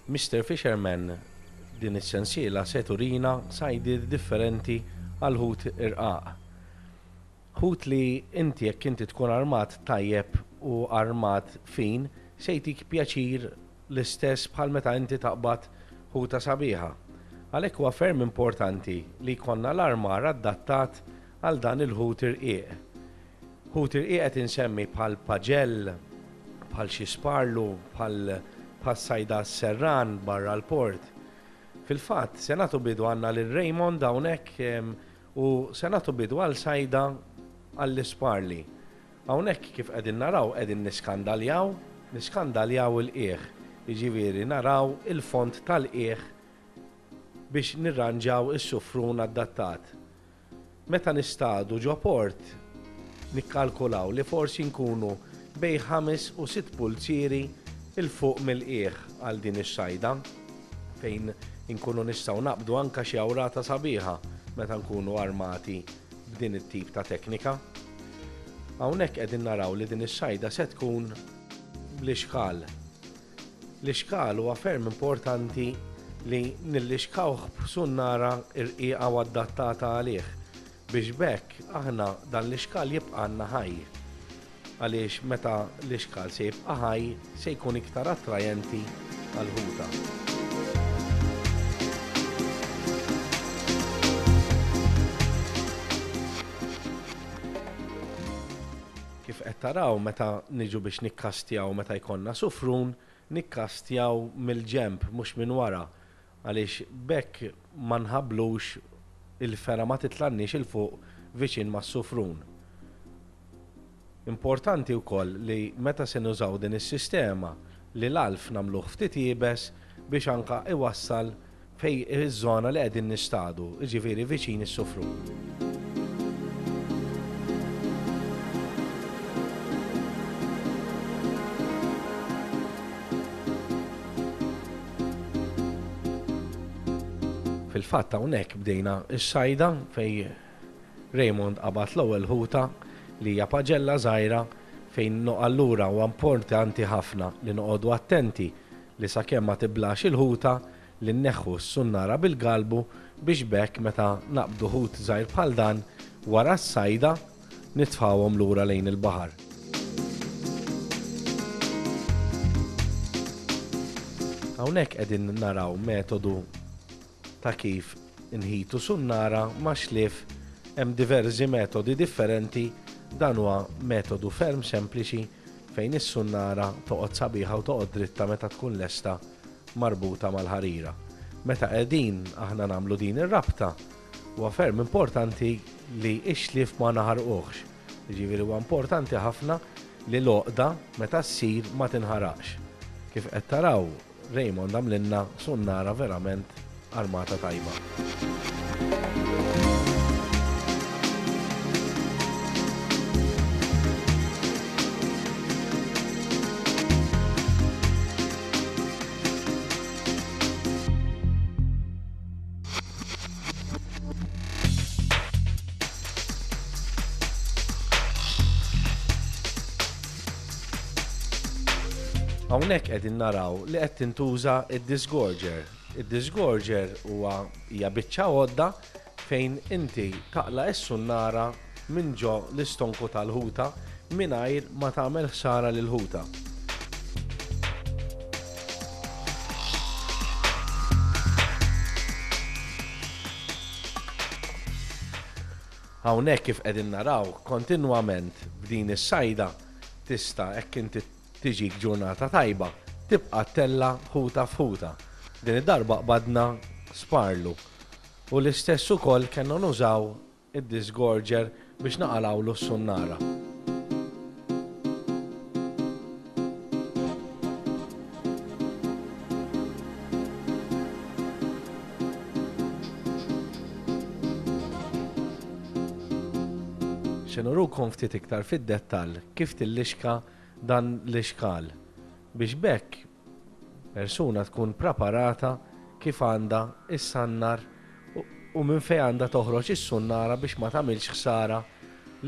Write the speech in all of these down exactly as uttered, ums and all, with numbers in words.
Mister Fisherman din is-sensiela se turina sajdiet differenti għal ħut irqaq. Ħut li inti jekk inti tkun armat tajjeb u armat fin, se jtik pjaċir l-istess bħal meta inti taqbad ħuta sabiħa. Għalhekk huwa ferm importanti li jkollna l-armar adattat għal dan il-ħut irqiq. Ħut irqiq qed insemmi bħal paġell, bħal xi sparlu, bħal sajda serran barra l-port. Fil-fatt, se nagħtu bidu għandna lil Raymond hawnhekk u se nagħtu bidu għal sajda għall-isparli. Hawnhekk kif qegħdin naraw qegħdin niskandaljaw, niskandaljaw il-qiegħ. Jiġifieri naraw il-fond tal-qiegħ biex nirranġaw is-sufrun adattat. Meta nistadu ġo port, nikkalkulaw li forsi nkunu bejn ħames u sitt pulzieri il fuq mill-qiegħ għal din is-sajda, fejn inkunu nistgħu naqbdu anke xi awrata sabiħa meta nkunu armati b'din it-tip ta' teknika. Hawnhekk qegħdin naraw li din is-sajda se tkun bl-ixkal. L-ixkal huwa ferm importanti li nillixkawh b'sunnara irqiqa u adattata għalih biex b'hekk aħna dan l-ixkal jibqa' għandna ħaj. Għaliex meta l-ixkal se jibqa' ħaj se jkun iktar attrajenti għall-ħuta. Kif qed taraw meta niġu biex nikkastjaw meta jkollna sufrun, nikkastjaw mill-ġenb mhux minn wara, għaliex b'hekk ma nħabblux il-fera ma titlanniex il fuq viċin mas-sufrun. Importanti wkoll li meta se nużaw din is-sistema li l-alf nagħmluh ftit iebes biex anka iwassal fej iż-żona li qegħdin nistadu, jiġifieri viċin is-sufrun. Fil-fatt hawnhekk bdejna s-sajda fej Raymond qabad l-ewwel ħuta li hija paġella żgħira fejn allura huwa importanti ħafna li noqogħdu attenti li sakemm ma tiblax il-ħuta li nneħħu s-sunnara bil-galbu biex b'hekk meta naqbdu ħut żgħir bħal dan wara s-sajda nitfgħuhom lura lejn il-baħar. Hawnhekk qegħdin naraw metodu ta' kif inħitu sunnara ma' xlief. Hemm diversi metodi differenti, dan huwa metodu ferm sempliċi fejn is-sunnara toqgħod sabiħa u toqgħod dritta meta tkun lesta marbuta mal-ħarira. Meta qegħdin aħna nagħmlu din ir-rabta, huwa ferm importanti li x-xlief ma naħarquhx. Jiġifieri huwa importanti ħafna li l-għoqda meta ssir ma tinħaraqx. Kif qed taraw, Raymond għamlilna sunnara verament armata tajba. Hawnhekk qegħdin naraw li qed tintuża id-disgorger. Id-disgorger huwa hija biċċa għodda fejn inti taqla' s-sunnara minn ġo l-istonku tal-ħuta mingħajr ma tagħmel ħsara lill-ħuta. Hawnhekk kif qegħdin naraw kontinwament b'din is-sajda tista' hekk inti tiġik ġurnata tajba, tibqa' tella ħuta f'ħuta. Din id-darba qbadna sparlu. U l-istess ukoll kellna nużaw id-disgorger biex naqalgħulu s-sunnara. Se nurukom ftit iktar fid-dettall kif tillixka dan l-ixkal biex b'hekk persuna tkun preparata kif għandha issannar u minn fejn għandha toħroġ is-sunnara biex ma tagħmilx ħsara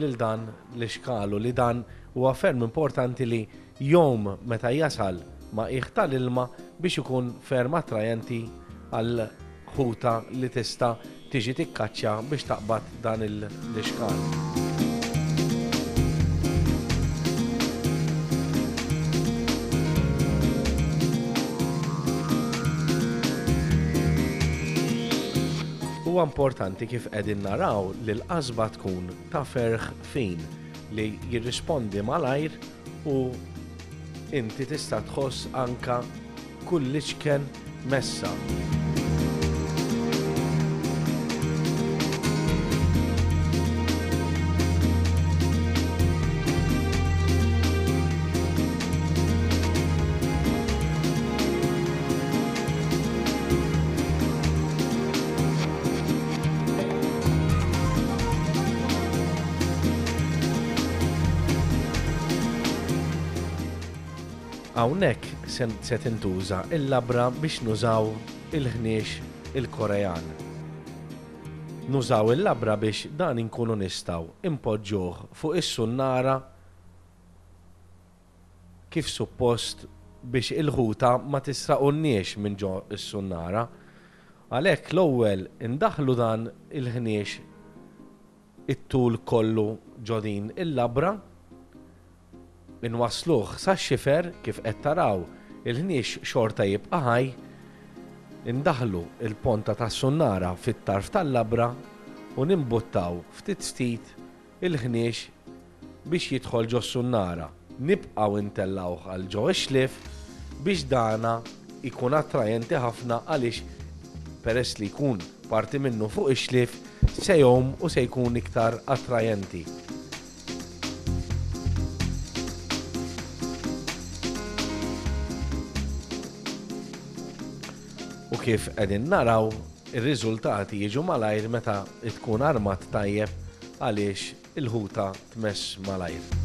lil dan l-ixkal, u li dan huwa ferm importanti li jom meta jasal ma' qiegħ tal-ilma biex ikun ferm attrajenti għal ħuta li tista' tiġi tikkaċċja biex taqbad dan l-ixkal. Huwa importanti kif qegħdin naraw li l-qasba tkun ta' ferħ fin li jirrispondi malajr u inti tista' tħoss anka kull iċken messa. Hawnhekk se tintuża il-labra biex nużaw il-ħniex il-Korean. Nużaw il-labra biex dan inkunu nistgħu impoġġuh fuq is-sunnara kif suppost biex il-ħuta ma tisraqunniex minn ġo is-sunnara. Għalhekk l-ewwel indaħlu dan il-ħniex it-tul kollu ġo din il-labra, inwasluh sax-xifer kif qed taraw il-ħniex xorta jibqa' ħaj, indaħlu il-ponta tas-sunnara fit-tarf tal-labra u nimbuttaw ftit ftit il-ħniex biex jidħol ġo s-sunnara. Nibqgħu intellgħuh għal ġo ix-xlief biex dana jkun attrajenti ħafna għaliex peress li jkun parti minnu fuq ix-xlief se jgħum u se jkun iktar attrajenti. U kif qegħdin naraw, ir-riżultati jiġu malajr meta tkun armat tajjeb għaliex il-ħuta tmess malajr.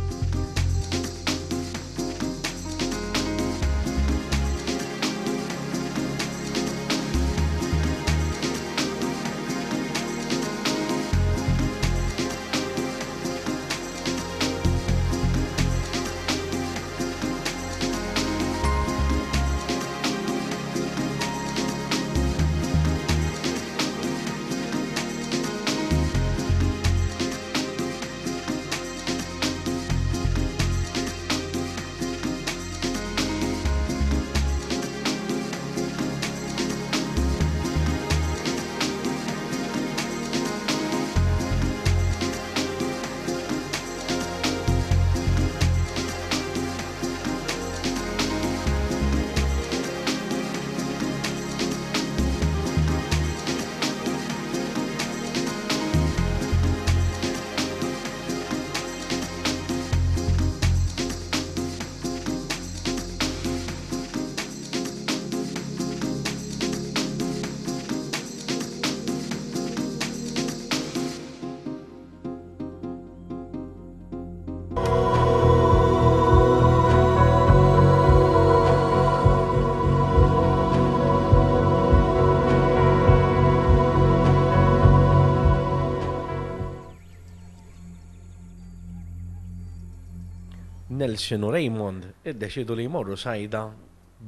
Nelson u Raymond iddeċidu li jmorru sajda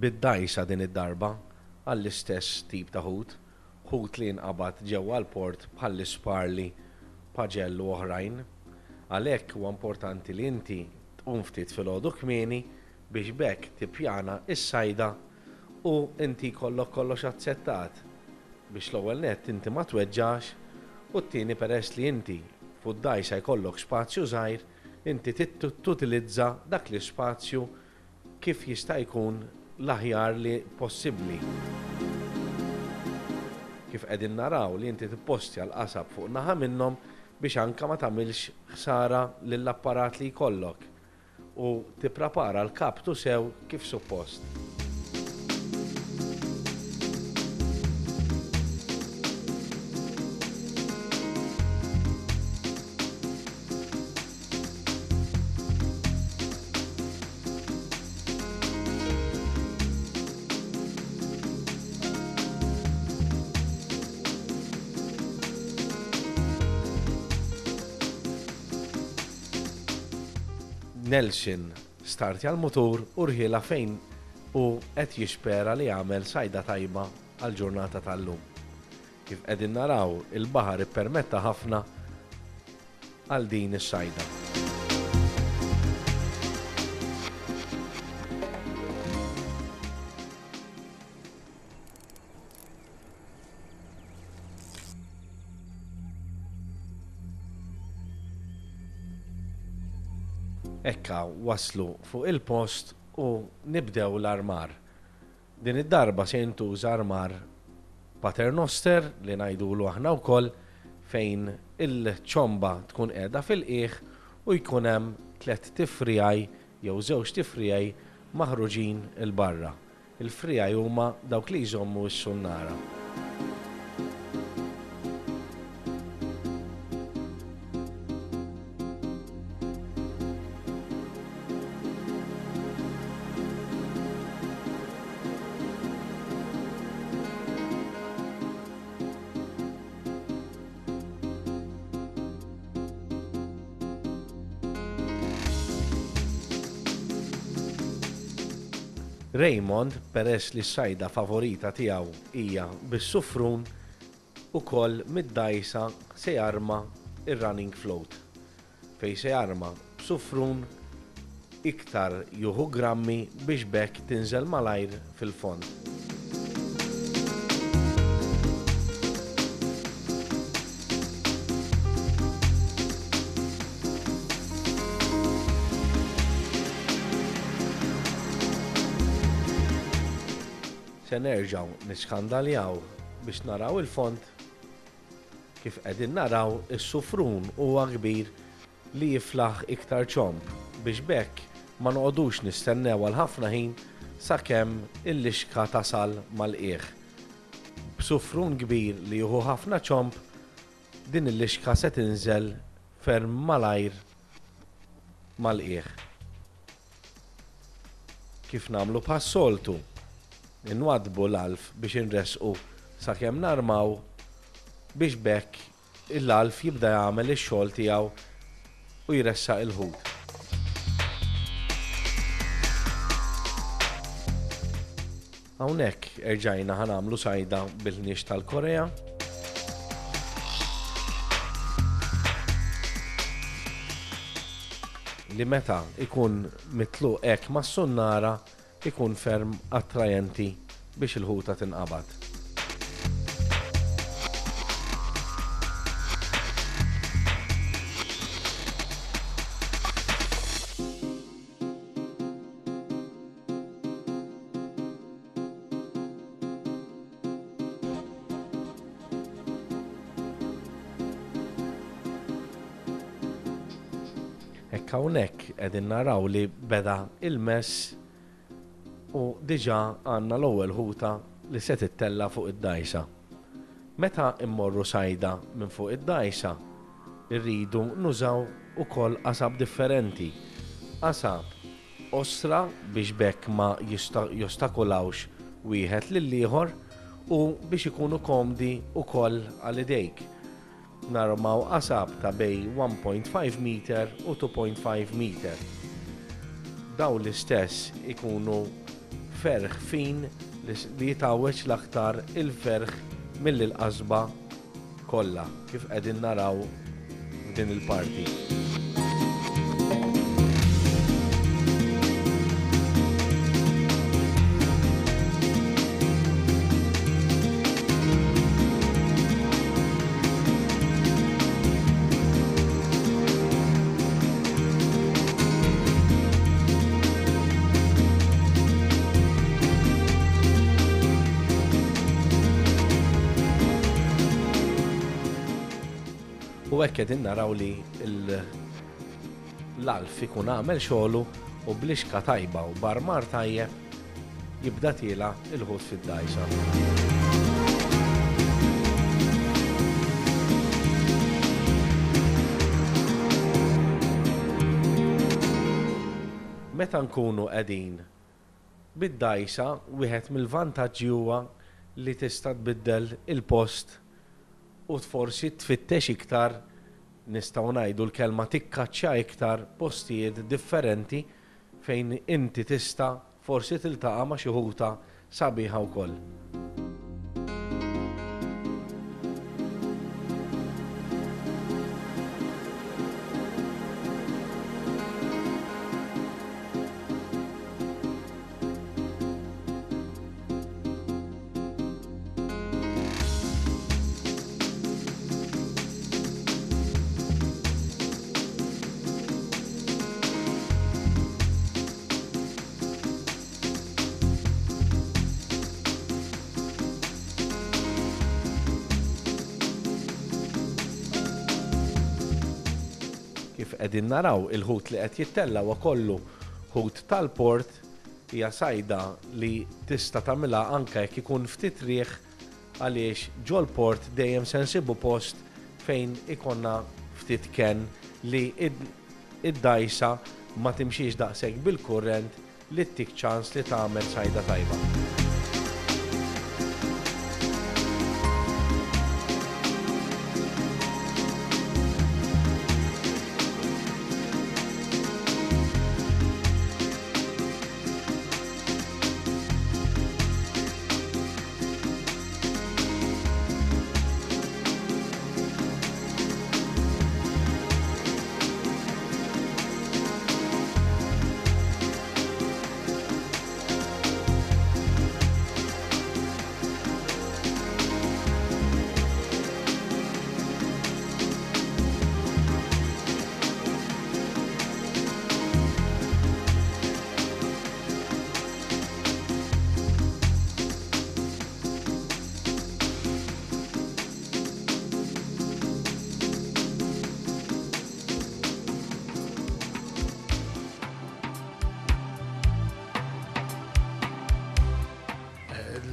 bid-dajsa din id-darba għall-istess tip ta' ħut, ħut li nqabad ġewwa l-port bħall-isparli, paġell u oħrajn. Għalhekk huwa importanti li inti tqum ftit filgħodu kmieni biex b'hekk tippjana s-sajda u inti jkollok kollox aċċettat biex l-ewwel nett inti ma tweġġax u t-tieni peress li inti fuq d-dajsa jkollok spazju żgħir inti tutilizza dak l-ispazju kif jista' jkun l-aħjar li possibbli. Kif qegħdin naraw li inti tippostja l-qasab fuq naħa minnhom biex anka ma tagħmilx ħsara lill-apparat li jkollok u tipprepara l-kaptu sew kif suppost. Nelson startja l-mutur u rħiela fejn u qed jispera li jagħmel sajda tajba għall-ġurnata tal-lum. Kif qegħdin naraw, il-baħar ippermetta ħafna għal din is-sajda. Ekka waslu fuq il-post u nibdew l-armar. Din id-darba se jintuża armar paternoster li ngħidulu aħna wkoll, fejn il-ċomba tkun qiegħda fil-qiegħ u jkun hemm tliet tifrijaj jew żewġ tifrijaj maħruġin il barra. Il-frijaj huma dawk li jżommu s-sunnara. Raymond, peress li s-sajda favorita tiegħu hija bis-sufrun, ukoll mid-dgħajsa se jarma ir-running float, fejn se jarma b'sufrun iktar juhu grammi biex b'hekk tinżel malajr fil-fond. Se nerġgħu niskandaljaw biex naraw il-fond. Kif qegħdin naraw, is-sufrun huwa kbir li jiflaħ iktar ċomb biex b'hekk ma noqogħdux nistennew għal ħafna ħin sakemm il-lixka tasal mal-qiegħ. B'sufrun kbir li jieħu ħafna ċomb, din il-lixka se tinżel ferm malajr mal-qiegħ. Kif nagħmlu bħas-soltu, inwadbu l-alf biex inresqu sakemm narmaw biex b'hekk l-alf jibda jagħmel ix-xogħol tiegħu u jressaq il-ħut. Hawnhekk erġajna ħa nagħmlu sajda bil-ħniex tal-Korea. Li meta ikun mitluq hekk mas-sunnara ikun ferm attrajenti biex il-ħuta tinqabad. Hekk hawnhekk qegħdin naraw li beda il-mess u diġà għandna l-ewwel ħuta li se tittella fuq id-dgħajsa. Meta immorru sajda minn fuq id-dgħajsa, irridu nużaw ukoll qasab differenti. Qasab osra biex b'hekk ma jista-, jostakolawx wieħed lill-ieħor u biex ikunu komdi ukoll għal idejk. Narmaw qasab ta' bej one point five meter u two point five meter. Dawn l-istess ikunu ferħ fin li s-, li jitgħawweġ l-aktar il-ferħ mill-qasba kollha, kif qegħdin naraw f'din il-parti. U hekk qegħdin naraw li l-, l-alf ikun għamel xogħlu u blixka tajba u barmar tajjeb jibda tiela il-ħut fid-dgħajsa. Meta nkunu qegħdin bid-dgħajsa, wieħed mill-vantaġġi huwa li tista' tbiddel il-post u forsi tfittex iktar, nistgħu ngħidu l-kelma tikkaċċja iktar postijiet differenti fejn inti tista' forsi tiltaqa' ma' xi ħuta sabiħa wkoll. Kif qegħdin naraw, il-ħut li qed jittella' huwa kollu ħut tal-port, hija sajda li tista' tagħmilha anke jekk ikun ftit riħ, għaliex ġol-port dejjem se nsibu post fejn ikonna ftit ken li id-dajsa ma timxiex daqshekk bil-kurrent li ttik ċans li tagħmel sajda tajba.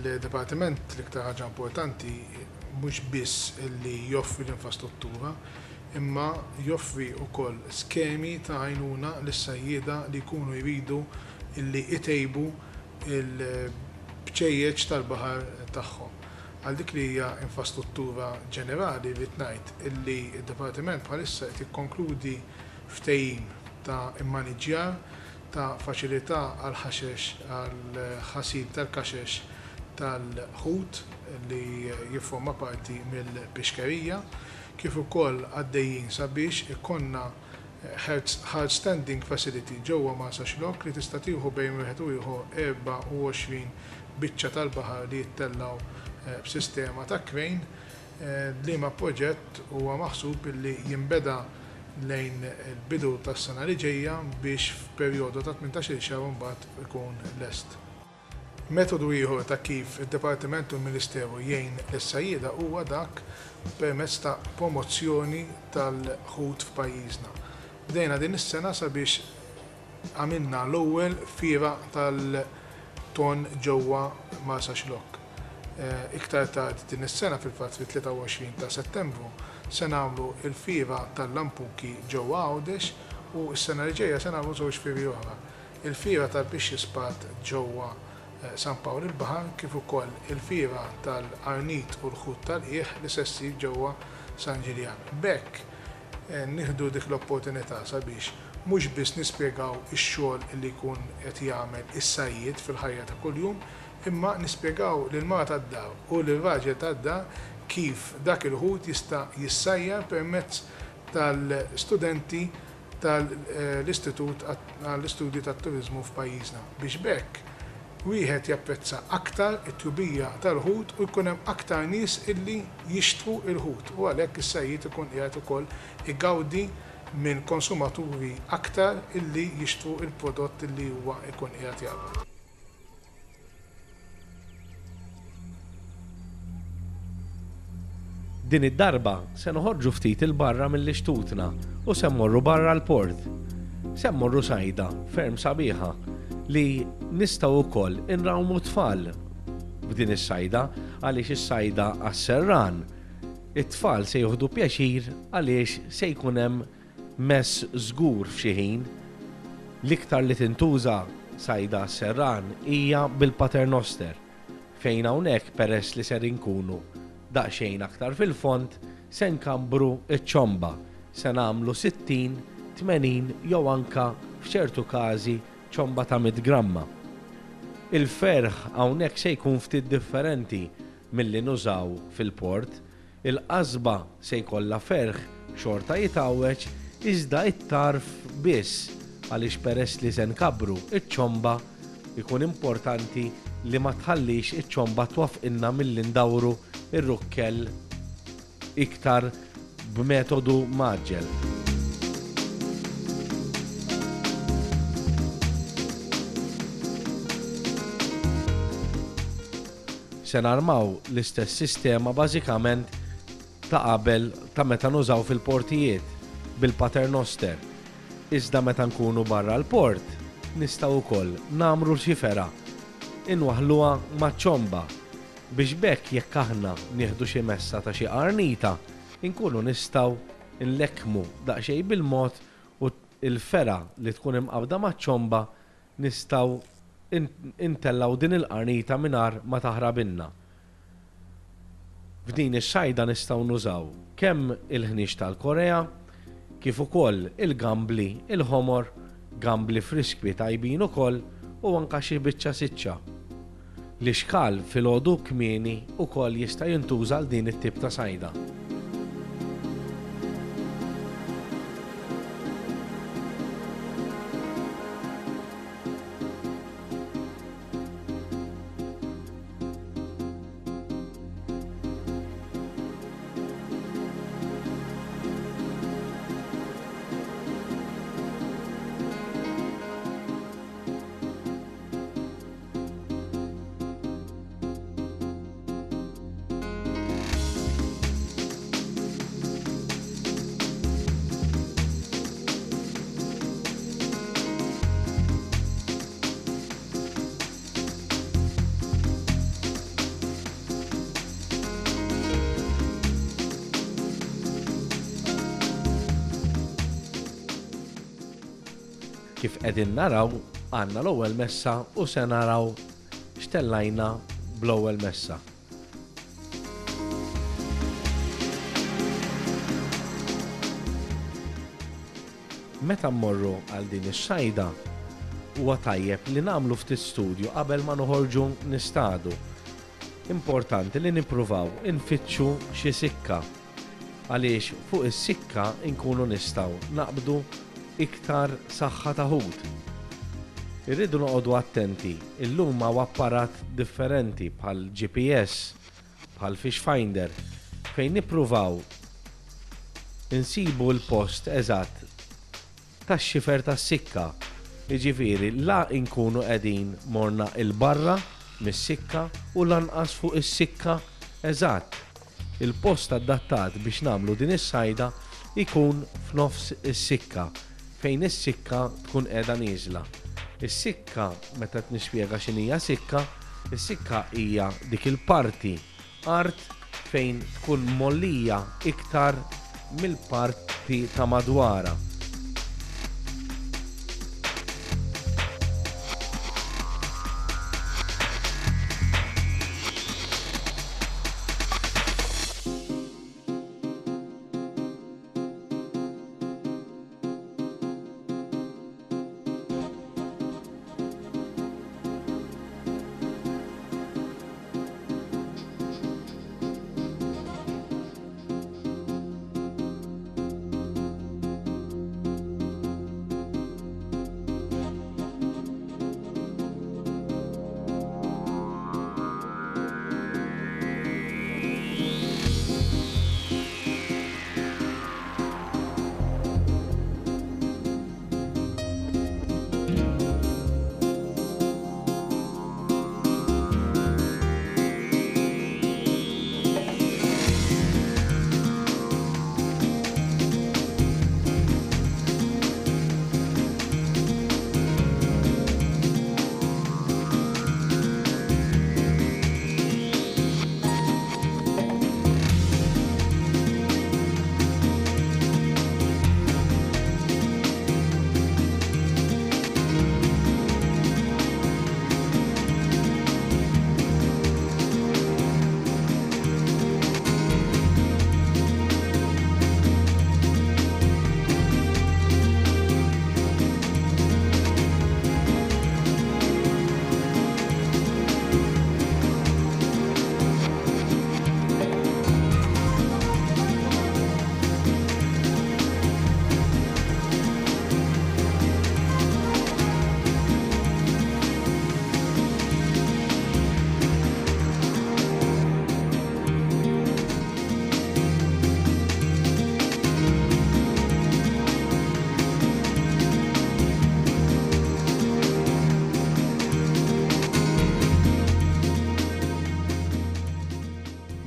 Il-Dipartiment l-iktar ħaġa importanti mhux biss li joffri l-infrastruttura, imma joffri wkoll skemi ta' għajnuna lis-sajjieda li jkunu jridu li jtejbu l-bċejjeċ tal-baħar tagħhom. Għal dik li hija infrastruttura ġenerali rrid ngħid illi d-Dipartiment bħalissa qed jikkonkludi ftehim ta' immaniġġjar ta' faċilità għal ħaxex għal ħasil tal-kaxex tal-ħut li jifforma parti mill-pixkerija, kif ukoll għaddejjin sabiex ikonna hard standing facility ġewwa Marsaxlokk li tista' tieħu bejn wieħed u ieħor erbgħa u għoxrin biċċa tal-baħar li jittellgħu b'sistema ta' crane. Liema proġett huwa maħsub li jinbeda lejn il-bidu tas-sena li ġejja biex f'perjodu ta' tmintax-il xahar imbagħad ikun lest. Metodu ieħor ta' kif id-Dipartiment u l-Ministeru jgħin lis-sajjieda huwa dak permezz ta' promozzjoni tal-ħut f'pajjiżna. Bdejna din is-sena sabiex għamilna l-ewwel fiera tal-ton ġewwa Marsaxlokk. Iktar tard din is-sena, fil-fatt fit-tlieta u għoxrin ta' Settembru, se nagħmlu l-fiera tal-lampuki ġewwa Għawdex u s-sena li ġejja se nagħmlu żewġ fieri oħra. Il-fiera tal-pixxi spat ġewwa San Pawl il-Baħar, kif ukoll il-fiera tal-Arnit u l-ħut tal-qiegħ li se ssir ġewwa San Ġiljan. B'hekk nieħdu dik l-opportunità sabiex mhux biss nispjegaw ix-xogħol li jkun qed jagħmel is-sajjied fil-ħajja ta' kuljum, imma nispjegaw lil mara tad-dar u lil raġel tad-dar kif dak il-ħut jista' jissajjar permezz tal-studenti tal-Istitut għall-Istudji tat-Turiżmu f'pajjiżna, biex b'hekk wieħed japprezza aktar it-tjubija tal-ħut u jkun hemm aktar nies illi jixtru l-ħut, u għalhekk is-sajjied ikun qiegħed ukoll igawdi minn konsumaturi aktar illi jixtru l-prodott illi huwa jkun qiegħed jagħmel. Din id-darba se noħorġu ftit il-barra mill-ixtutna u se mmorru barra l-port. Se mmorru sajda ferm sabiħa li nistgħu wkoll inrawmu tfal b'din is-sajda, għaliex is-sajda għas-serran it-tfal se jieħdu pjaċir għaliex se jkun hemm mess żgur f'xi ħin. L-iktar li tintuża sajda għas-serran hija bil-paternoster, fejn hawnhekk peress li ser inkunu daqsxejn aktar fil-fond se nkambru ċ-ċomba, se nagħmlu sittin, tmenin jew anka f'ċertu każi ċomba ta' mitt gramma. Il-ferħ hawnhekk se jkun ftit differenti milli nużaw fil-port. Il-qasba se jkollha ferħ xorta jitgħawweġ iżda it-tarf biss, għaliex peress li se nkabbru iċ-ċomba ikun importanti li ma tħallix iċ-ċomba twaffqilna milli ndawru ir-rukkell iktar b'metodu mgħaġġel. Se narmaw l-istess sistema bażikament ta' qabel ta' meta nużaw fil-portijiet bil-paternoster. Iżda meta nkunu barra l-port nistgħu wkoll nagħmlu xi fergħa inwaħħluha maċ-ċomba biex b'hekk jekk aħna nieħdu xi messa ta' xi qarnita inkunu nistgħu nlekkmu daqsxejn bil-mod u l-fergħa li tkun imqabda maċ-ċomba nistgħu intellgħu din il-qarnita mingħajr ma taħrabilna. F'din ix-xajda nistgħu nużaw kemm il-ħniex tal-Korea, kif ukoll il-gambli, il-ħomor, gambli friskbi tajbin ukoll u anke xi biċċa siċċa. L-ixkal filgħodu kmieni ukoll jista' jintuża għal din it-tip ta' sajda. Kif qegħdin naraw, għandna l-ewwel messa u se naraw x'tellajna bl-ewwel messa. Meta mmorru għal din ix-xajda, huwa tajjeb li nagħmlu ftit studju qabel ma noħorġu nistadu. Importanti li nippruvaw infittxu xi sikka, għaliex fuq is-sikka nkunu nistgħu naqbdu iktar saħħa ta' ħut. Irridu noqogħdu attenti, illum hawn apparat differenti bħal G P S, bħal Fish Finder, fejn nippruvaw insibu l-post eżatt tax-xifer tas-sikka. Jiġifieri la nkunu qegħdin morna il-barra mis-sikka u lanqas fuq is-sikka eżatt. Il-post adattat biex nagħmlu din is-sajda ikun f'nofs is-sikka, fejn is-sikka tkun qiegħda nieżla. Is-sikka, meta qed nispjega x'inhija sikka, is-sikka hija dik il-parti art fejn tkun mollija iktar mill-parti ta' madwarha.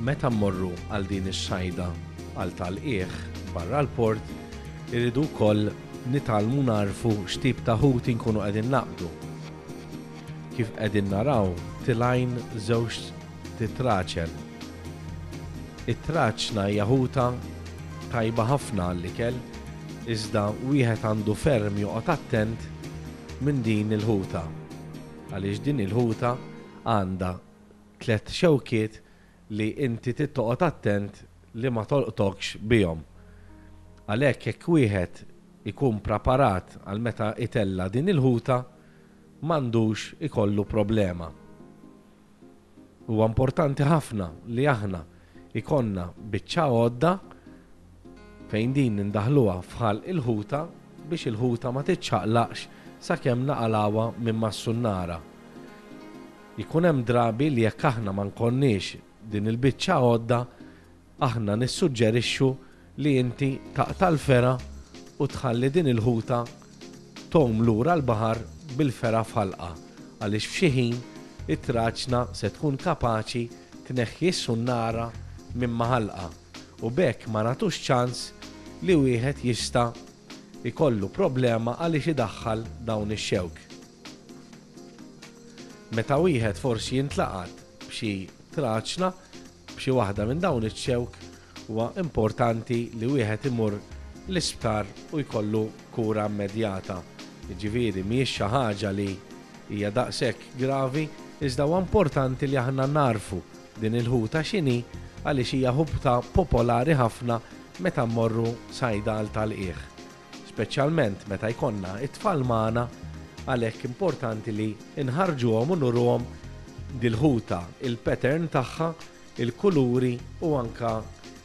Meta mmorru għal din ix-xajda għal tal-qiegħ barra l-port, irridu wkoll nitgħallmu narfu x'tip ta' ħut inkunu qegħdin naqbdu. Kif qegħdin naraw tilgħin żewġ titraċen. It-traċna hija ħuta tajba ħafna għall-ikel, iżda wieħed għandu ferm joqgħod attent minn din il-ħuta. Għaliex din il-ħuta għandha tliet xewkiet li inti trid toqgħod attent li ma tolqtokx bihom. Għalhekk jekk wieħed ikun preparat għal meta itella din il-ħuta, m'għandux ikollu problema. Huwa importanti ħafna li aħna ikonna biċċa għodda fejn din nindaħluha f'ħalq il-ħuta biex il-ħuta ma tiċċaqlaqx sakemm naqalawha minn mas-sunnara. Ikun hemm drabi li jekk aħna ma nkonniex din il-biċċa għodda, aħna nissuġġerixxu li inti taqta' l-fergħa u tħalli din il-ħuta tgħum lura l-baħar bil-fergħa f'ħalqa, għaliex f'xi ħin it-traċna se tkun kapaċi tneħħi s-sunnara minn ma' ħalqa u b'hekk ma nagħtux ċans li wieħed jista' ikollu problema għaliex idaħħal dawn ix-xewk. Meta wieħed forsi jintlaqat b'xi traċna b'xi waħda minn dawn iċ-xewk, huwa importanti li wieħed imur l-isptar u jkollu kura immedjata. Jiġifieri mhijiex xi ħaġa li hija daqshekk gravi, iżda huwa importanti li aħna narfu din il-ħuta x'inhi għaliex hija ħuta popolari ħafna meta mmorru sajda għal tal-qiegħ. Speċjalment meta jkollna it-tfal magħna, għalhekk importanti li nħarġuhom u nuruhom dil-ħuta, il-pattern tagħha, il-kuluri u anka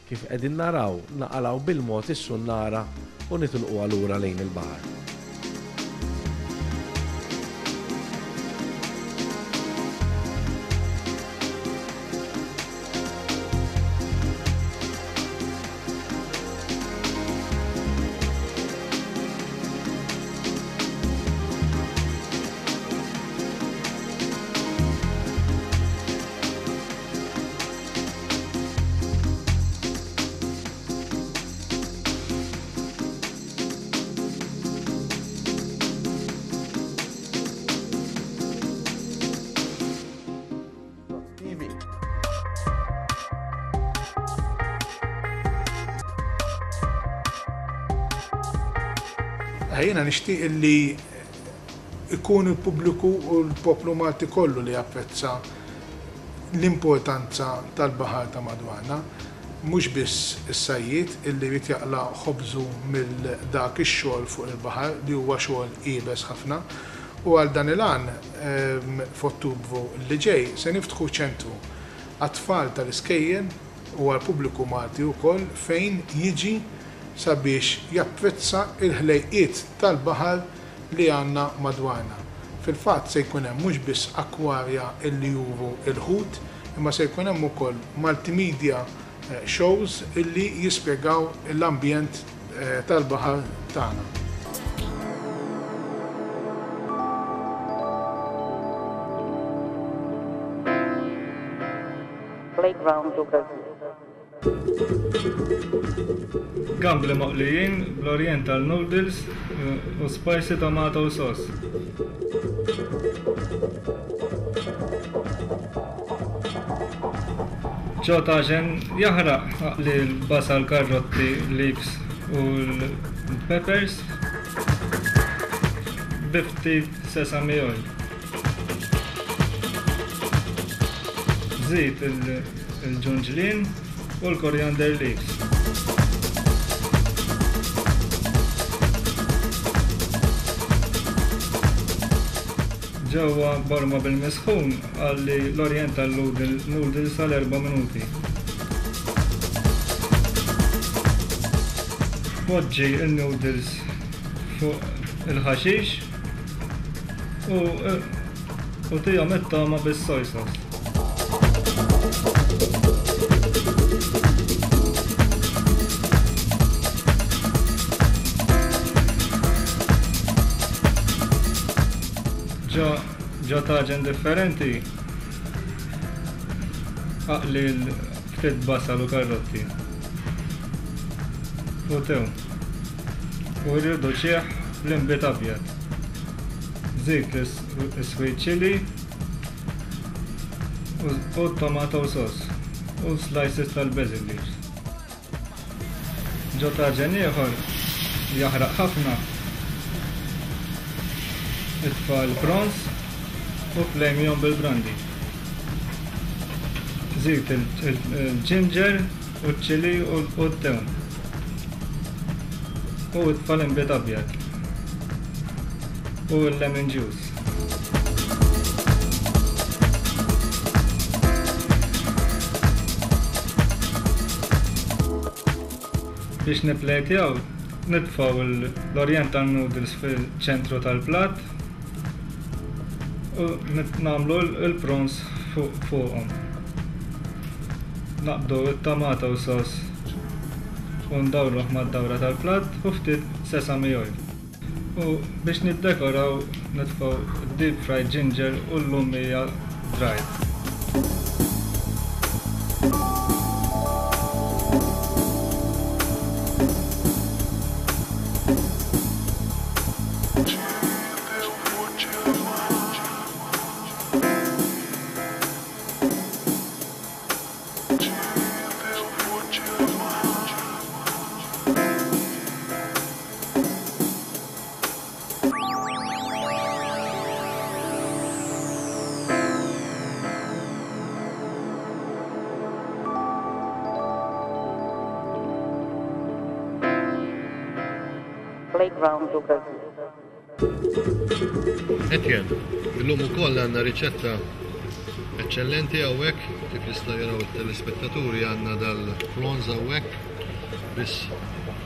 kif qegħdin naraw naqalgħu bil-mod is-sunnara u nitilqu lura lejn il-baħar. Jiena nixtieq li ikun il-pubbliku u l-poplu Malti kollu li japprezza l-importanza tal-baħar ta' madwarna, mhux biss is-sajjied illi jrid jaqla' ħobżu mill dak ix-xogħol fuq il-baħar li huwa xogħol iebes ħafna. U għal dan il-għan f'Ottubru li ġej se niftħu ċentru għat-tfal tal-iskejjel u għall-pubbliku Malti wkoll fejn jiġi sabiex japprezza il-ħlejqiet tal-baħar li għandna madwarna. Fil-fatt se jkun hemm mhux biss akwarja illi juru il-ħut, imma se jkun hemm ukoll multimedia shows illi jispjegaw l-ambjent tal-baħar tagħna. Playground Lucas. Gambli moqlijin bl-Oriental noodles u spicy tomato sauce. Ġo taġen jaħraq aqli l-basal, karrotti, leaves u l-peppers bi ftit sesame oil. Żid il-ġunġlien u l-coriander leaves. Ġewwa borma bil-misħun għalli l-Oriental noodles għal erba' minuti. Poġġi il-noodles fuq il-ħaxix u, u tihom it-togħma bis-soy sauce. Ġo taġen differenti, aqli Ftit basal u karrotti. U tewm. U rriduċih bl-inbid abjad. Żid is-sweet chili u tomato sauce u slices tal-basil leaves. Ġo taġen ieħor jaħraq ħafna. Itfa' l-prawns u flejmihom bil-brandy. Żid il-ginger u ċ-chili u t-tewm. U itfa' l-inbid abjad. U l-lemon juice. Biex niplejtjaw, nitfgħu l-Oriental noodles fil-ċentru tal-platt u nagħmlu l-prawns fuqhom. Naqbdu t-tomato sauce u ndawruh mad-dawra tal-platt u ftit sesame oil. U biex niddekoraw nitfgħu deep fried ginger u l-lumija dried. Playground do Brasil. Etienne, illum ukoll għandna riċetta eċċellenti hawnhekk, kif jistgħu jaraw it-telespettaturi għandna dal-prawns hawnhekk, biss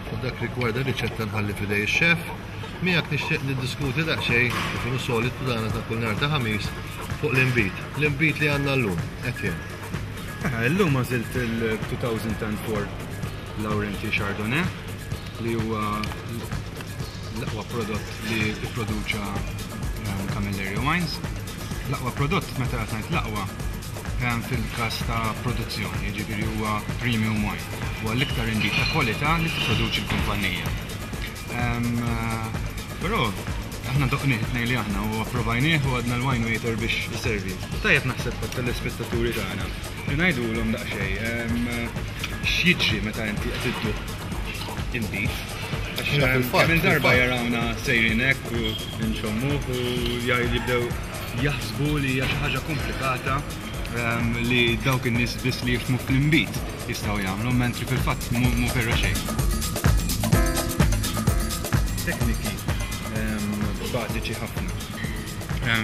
fuq dak rigward ir-riċetta nħalli f'idej ix-xef. Miegħek nixtieq niddiskuti daqsxejn kif inhu solitu tagħna ta' kull nhar ta' Ħamis fuq l-inbid. L-inbid li għandna llum, Etienne. Illum għażilt il-two thousand and four Laurenti Chardonnay li huwa l-aqwa prodott li pproduċa Camilleri Wines. L-aqwa prodott, meta qed ngħid l-aqwa, fil-każ ta' produzzjoni, jiġifieri huwa premium wine. Huwa l-iktar inbid ta' kwalità li tipproduċi l-kumpanija. Però aħna doqnieh tnejn li aħna u approvajnieh u għadna l-wine waiter biex iservi. Tajjeb naħseb tat-telespettaturi tagħna li ngħidulhom daqsxejn x'jiġri meta inti qed idduq inbid. Għax kemm il-darba jarawna sejrin hekk u nxommuh u jibdew jaħsbu li hija xi ħaġa komplikata li dawk in-nies biss li jifhmu fl-inbid jistgħu jagħmlu, mentri fil-fatt mhu vera xejn. Tekniki bażiċi ħafna.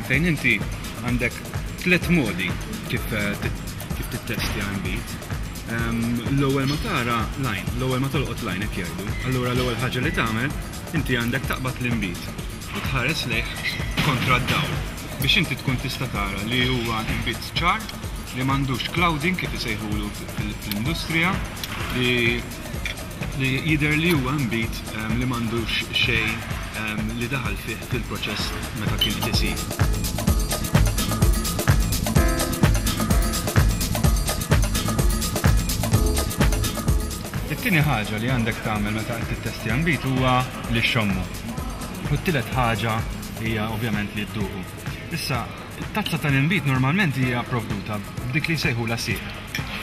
Fejn inti għandek tliet modi kif kif tittestja inbid. L-ewwel ma tara lajn, l-ewwel ma tolqot lajn hekk jgħidu. Allura l-ewwel ħaġa li tagħmel inti għandek taqbad l-inbid u tħares lejh kontra d-dawl biex inti tkun tista' tara li huwa inbid ċar, li m'għandux clouding kif isejħulu fl-industrija, li li jidher li huwa inbid li m'għandux xejn li daħal fih fil-proċess meta kien qed isir. It-tieni ħaġa li għandek tagħmel meta qed tittestja nbid huwa li xxommu. U t-tielet ħaġa hija ovvjament li dduqu. Issa, it-tazza tal-inbid normalment hija pprovduta b'dik li jsejħulha sieq.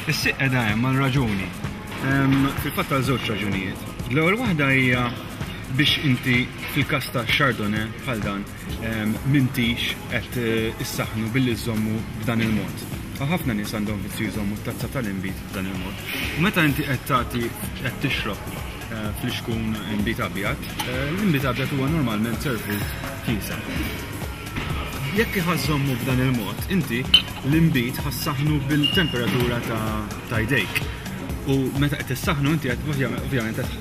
Is-sieq qiegħda hemm għal raġuni. Fil-fatt għal żewġ raġunijiet. L-ewwel waħda hija biex inti fil-każ ta' Chardonnay bħal dan m'intix qed issaħħnu billi żommu b'dan il-mod. Ħafna nies għandhom vizzju jżommu t-tazza tal-inbid b'dan il-mod. U meta inti qed tagħti qed tixrob fl-ixkun inbid abjad, l-inbid abjad huwa normalment servut kiesaħ. Jekk iħażżommu b'dan il-mod, inti l-inbid ħassaħnu bil-temperatura ta' jdejk. U meta qed tissaħnu inti qed ovvjament qed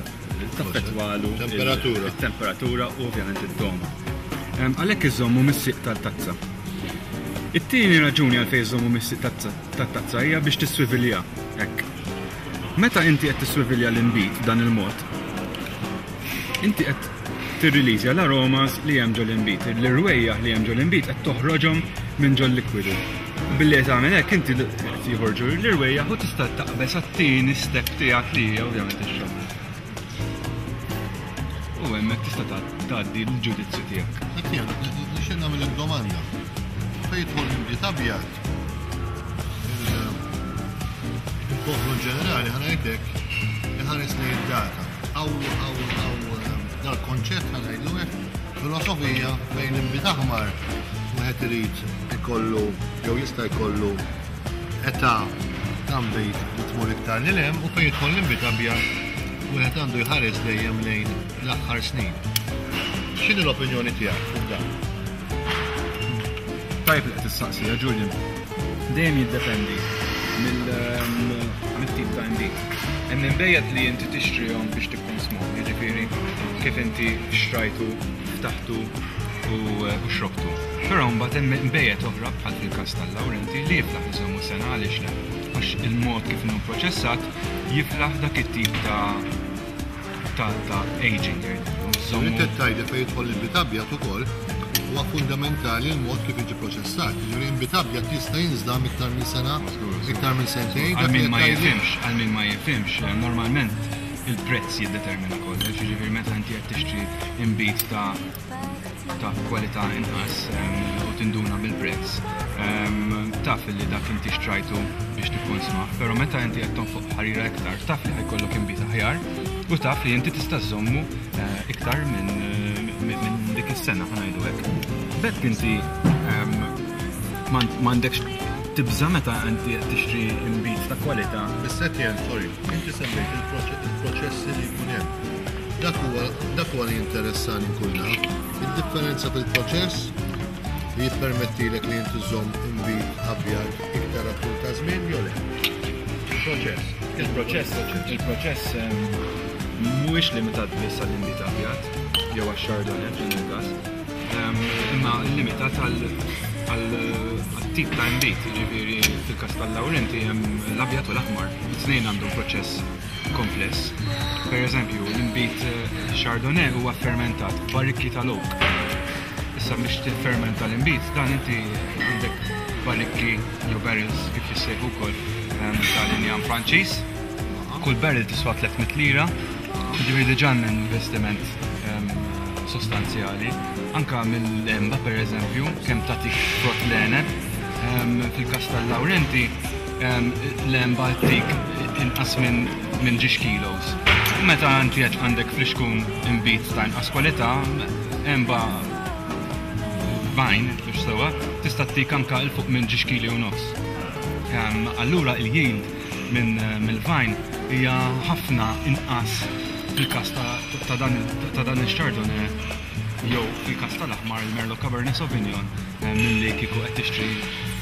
taffettwalu it-temperatura u ovvjament id-doma. Għalhekk iżommu mis-sieq tal-tazza. It-tieni raġuni għalfejn iżommu mis-sieq tat-tazza hija biex tiswivilja hekk. Meta inti qed tiswivilja l-inbid b'dan il-mod, inti qed tirriliżja l-aromas li hemm ġol-inbid, l-irwejjaħ li hemm ġol-inbid qed toħroġhom minn ġol-likwidu. Billi qed tagħmel hekk inti mbagħad joħorġu l-irwejjaħ u tista' taqbeż għat-tieni step tiegħek li hija ovvjament ix-xamm. U hemmhekk tista' tgħaddi l-ġudizzju tiegħek. Etienne, nixtieq nagħmel domanda. Fejn jidħol l-inbid abjad, il-poplu ġenerali ħa ngħidlek iħares lejn id-data. Aw aw aw dal-konċett ħa ngħidlu hekk, filosofija fejn l-inbid aħmar wieħed irid ikollu jew jista' jkollu età ta' nbid li tmur iktar lil hemm u fejn jidħol l-inbid abjad wieħed għandu jħares dejjem lejn l-aħħar snin. X'inhi l-opinjoni tiegħek fuq dan? Tajb li qed tistaqsija, Julian. Dejjem jiddependi mill-tip ta' inbid. Hemm inbejjed li inti tixtrihom biex tikkonsmhom, jiġifieri kif inti xtrajtu, ftaħtu u xrobtu. Però mbagħad hemm inbejjed oħra bħal fil-każ tal-Laurenti li jiflaħ iżommu sena għaliex le. Għax il-mod kif inhu proċessat jiflaħ dak it-tip ta' ta' ta' aging. Inti tgħidli fejn jidħol l-inbid abjad ukoll huwa fundamentali l-mod kif jiġi proċessat. Jiġifieri inbid abjad jista' jinżamm iktar minn sena, iktar minn sentejn. Għal min ma jifhimx, għal min ma jifhimx, normalment il-prezz jiddetermina kollox, jiġifieri meta inti qed tixtri inbid ta' ta' kwalità inqas u tinduna bil-prezz, taf li dak inti xtrajtu biex tikkonsma, però meta inti qed tonfoq ħarira iktar, taf li ħa jkollok inbid aħjar u taf li inti tista' żżommu iktar minn dik is-sena ħa ngħidu hekk. B'hekk inti m'għandekx tibża' meta inti qed tixtri inbid ta' kwalità. Biss Etienne, sorry, inti semmejt il-proċessi li jkun hemm. Dak huwa dak huwa li interessani nkun naf. Id-differenza fil-proċess li jippermettilek li inti żżomm inbid abjad iktar għat-tul ta' żmien jew le? Il-proċess. Il-proċess, il-proċess mhuwiex limitat biss għall-inbid abjad jew għax-Chardonnay f'dan il-każ, imma limitat għal-tip ta' inbid, jiġifieri fil-każ tal-Laurenti hemm l-abjad u l-aħmar, it-tnejn għandhom proċess kompless. Per eżempju, l-inbid Chardonnay huwa fermentat b'barrikki tal-oak. Issa biex tiffermenta l-inbid, dan inti għandek barrikki jew barrels kif jissejħu wkoll tal-injam Franċiż. Kull barrel tiswa tliet mitt lira, jiġifieri diġà hemm investiment sostanzjali. Anka mill-emba per eżempju, kemm tagħtik frott l-għeneb, fil-każ tal-Laurenti l-emba ttik inqas minn ġiex kilos. U meta inti għandek flixkun inbid ta' inqas kwalità, emba vine, biex sewa, tista' ttik anka il fuq minn ġiex kili u nofs. Allura il-yield minn mill-vine hija ħafna inqas fil-każ ta' dan il-Chardonnay jew fil-każ tal-aħmar il-Merlot Cabernet Sauvignon milli kieku qed tixtri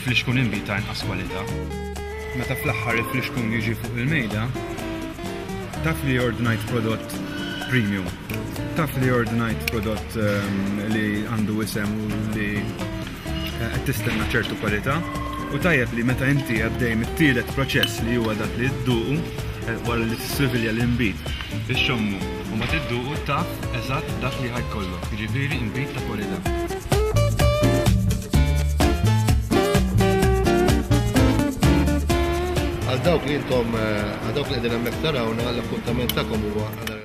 flixkun inbid ta' inqas kwalità. Meta fl-aħħar il-flixkun jiġi fuq il-mejda, taf li ordnajt prodott premium, taf li ordnajt prodott li għandu isem u li qed tistenna ċertu kwalità, u tajjeb li meta inti għaddej mit-tielet proċess li huwa dak li dduqu wara li tissuvilja l-inbid ixxommu u ma tidduqu taf eżatt dak li ħa jkollok, jiġifieri inbid ta' kwalità. Għal dawk li intom, għal dawk li qegħdin hemmhekk tarawna, l-appuntament tagħkom huwa għal